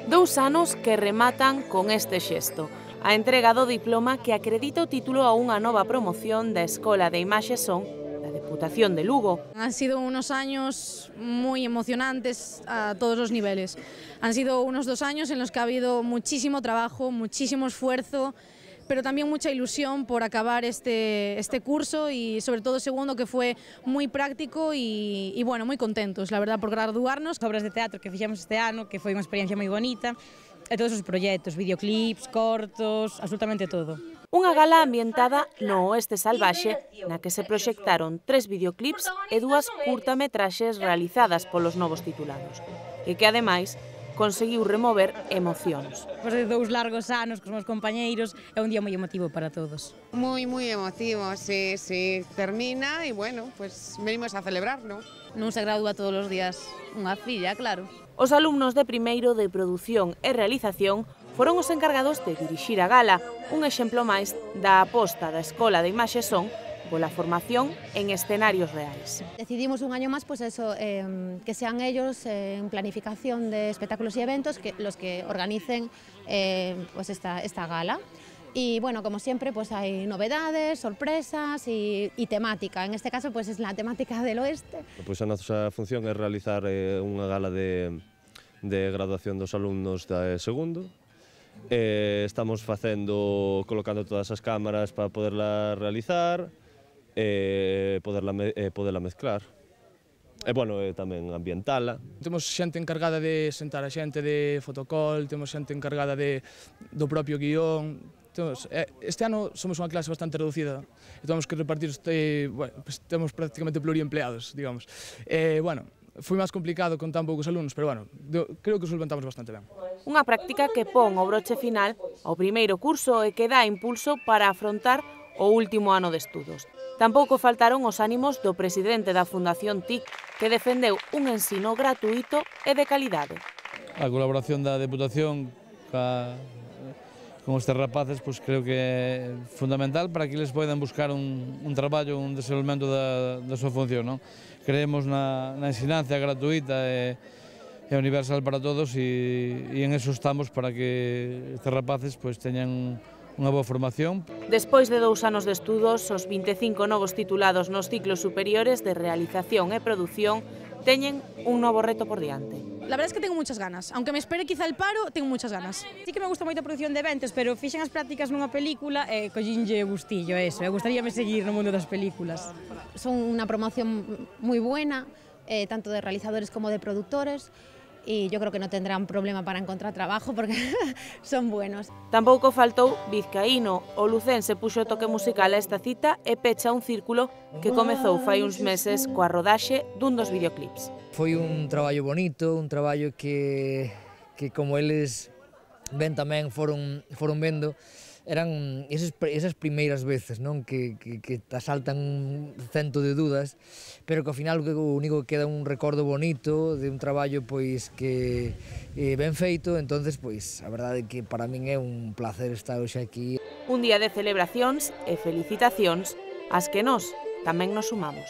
2 anos que rematan con este xesto, a entrega do diploma que acredita o título a unha nova promoción da Escola de Imaxe e Son da Deputación de Lugo. Han sido unos años muy emocionantes a todos los niveles. Han sido unos 2 años en los que ha habido muchísimo trabajo, muchísimo esfuerzo, pero también mucha ilusión por acabar este curso y sobre todo segundo, que fue muy práctico y bueno, muy contentos, la verdad, por graduarnos. Obras de teatro que fixemos este ano, que foi unha experiencia moi bonita, e todos os proxectos, videoclips, cortos, absolutamente todo. Unha gala ambientada no oeste salvaxe na que se proxectaron 3 videoclips e 2 curtametraxes realizadas polos novos titulados, e que ademais conseguiu remover emocións. Despois de 2 largos anos cos meus compañeiros, é un día moi emotivo para todos. Muy emotivo, sí, termina y bueno, pues venimos a celebrar, ¿no? Non se gradúa todos os días unha filla, claro. Os alumnos de primeiro de produción e realización foron os encargados de dirixir a gala, un exemplo máis da aposta da Escola de Imaxe e Son pola formación en escenarios reais. Decidimos un año más, pues eso, que sean ellos en planificación de espectáculos y eventos los que organicen pues esta gala. Y bueno, como siempre, pues hay novedades, sorpresas y temática. En este caso, pues es la temática del oeste. Pois a nosa función é realizar unha gala de graduación dos alumnos de segundo. Estamos colocando todas as cámaras para poderla realizar, poderla mezclar. E, bueno, tamén ambientala. Temos xente encargada de sentar a xente de fotocall, temos xente encargada do propio guión. Este ano somos unha clase bastante reducida e temos que repartir, temos prácticamente pluriempleados, digamos. Bueno, foi máis complicado con tan poucos alumnos, pero bueno, creo que os solventamos bastante ben. Unha práctica que pon o broche final ao primeiro curso e que dá impulso para afrontar o último ano de estudos. Tampouco faltaron os ánimos do presidente da Fundación TIC, que defendeu un ensino gratuito e de calidade. A colaboración da Deputación con estes rapaces creo que é fundamental para que eles poidan buscar un traballo, un desenvolvemento da súa función. Creemos na ensinanza gratuita e universal para todos e en eso estamos para que estes rapaces teñan unha boa formación. Despois de 2 anos de estudos, os 25 novos titulados nos ciclos superiores de realización e produción teñen un novo reto por diante. La verdad es que tengo muchas ganas, aunque me espere quizá el paro, tengo muchas ganas. Sí que me gusta moito a produción de eventos, pero fixen as prácticas nunha película e collinlle gustillo eso, e gustaríame seguir no mundo das películas. Son una promoción muy buena, tanto de realizadores como de productores, y yo creo que no tendrán problema para encontrar trabajo porque son buenos. Tampouco faltou Vizcaíno. O lucense puxo o toque musical a esta cita e pecha un círculo que comezou fai uns meses coa rodaxe dun dos videoclips. Foi un traballo bonito, un traballo que como eles ven tamén foron vendo, eran esas primeiras veces, non, que te asaltan un cento de dudas, pero que ao final o único que queda un recordo bonito de un traballo que ben feito. Entonces, a verdade é que para min é un placer estar hoxe aquí. Un día de celebracións e felicitacións ás que nós tamén nos sumamos.